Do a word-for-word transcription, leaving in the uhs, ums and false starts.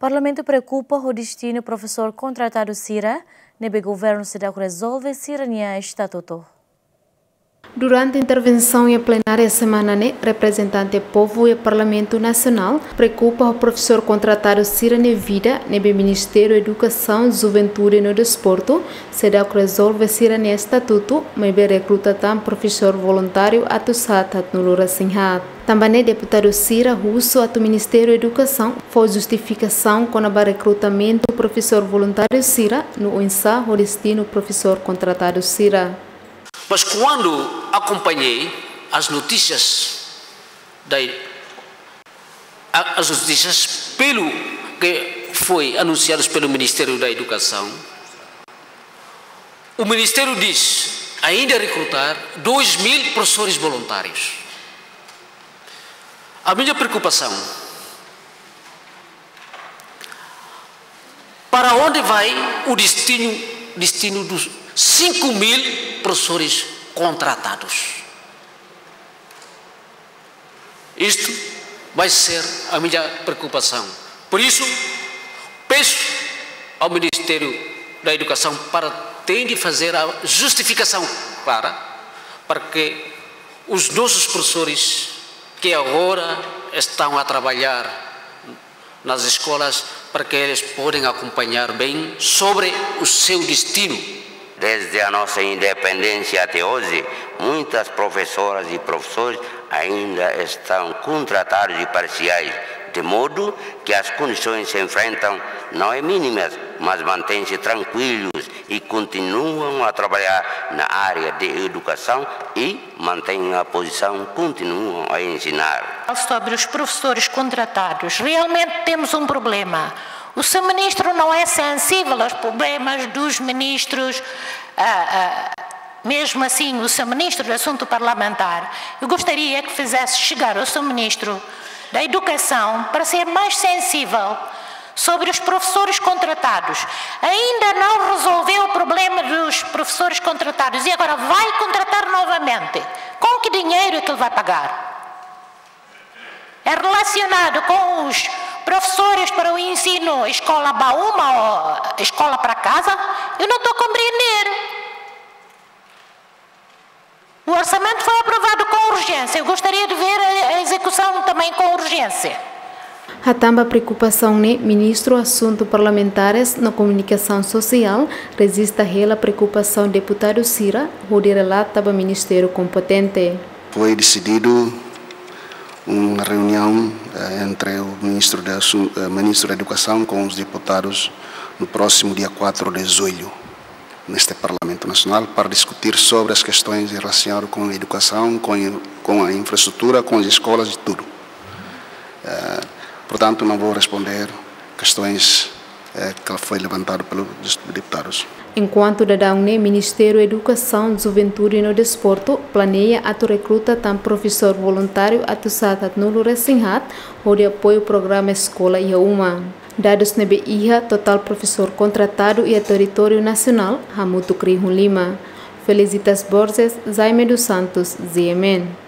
Parlamentu preokupa ho destinu profesór kontratadu sira, ne'ebé governu seidauk rezolve sira-nia estatutu. Durante intervensaun iha plenária semana ne'e, reprezentante povu iha Parlamentu Nasionál preokupa ho profesór kontratadu sira-nia vida, ne'ebé Ministériu Edukasaun, Juventude no Desportu seidauk rezolve sira-nia estatutu, maibé rekruta tan profesór voluntáriu atus haat haatnulu resin haat. Tanba ne'e deputadu sira husu atu Ministériu Edukasaun fó justifikasaun kona-ba rekrutamentu profesór voluntáriu sira, no oinsá ho destinu profesór kontratadu sira. Mas quando acompanhei as notícias da, a-, as notícias pelo que foi anunciadas pelo Ministério da Educação, o Ministério diz ainda recrutar dois mil professores voluntários. A minha preocupação, para onde vai o destino, destino dos cinco mil professores contratados? Isto vai ser a minha preocupação. Por isso, peço ao Ministério da Educação para tem de fazer a justificação clara para que os nossos professores que agora estão a trabalhar nas escolas, para que eles podem acompanhar bem sobre o seu destino. Desde a nossa independência até hoje, muitas professoras e professores ainda estão contratados e parciais, de modo que as condições que enfrentam não é mínimas, mas mantêm-se tranquilos e continuam a trabalhar na área de educação e mantêm a posição, continuam a ensinar. Sobre os professores contratados, realmente temos um problema. O seu ministro não é sensível aos problemas dos ministros, ah, ah, mesmo assim, o seu ministro do Assunto Parlamentar, eu gostaria que fizesse chegar ao seu ministro da Educação para ser mais sensível sobre os professores contratados. Ainda não resolveu o problema dos professores contratados e agora vai contratar novamente. Com que dinheiro é que ele vai pagar? É relacionado com os professores para o ensino escola ba uma ou escola para casa? Eu não estou a compreender. O orçamento foi aprovado com urgência. Eu gostaria de ver a, a execução também com urgência. Hatán ba preokupasaun ne'e, Ministru Asuntu Parlamentares no Komunikasaun Sosiál rejista hela preokupasaun deputadu sira, hodi relata ba ministériu kompetente. Foi decidido uma reunião, eh, entre o ministro de Assun-, eh, ministro da Educação com os deputados no próximo dia quatro de julho, neste Parlamento Nacional, para discutir sobre as questões relacionadas com a educação, com, com a infraestrutura, com as escolas e tudo. Eh, portanto, não vou responder questões, eh, que foi levantado pelos deputados. Enkuantu daudaun ne'e, Ministériu Edukasaun, Juventude no Desportu planeia atu rekruta tan profesór voluntáriu atus haat haatnulu resin haat, hodi apoiu programa Eskola Iha Uma. Dadus ne'ebé iha totál profesór kontratadu iha territóriu nasionál hamutuk rihun lima. Felicitas Borges, Jaime dos Santos, G M N.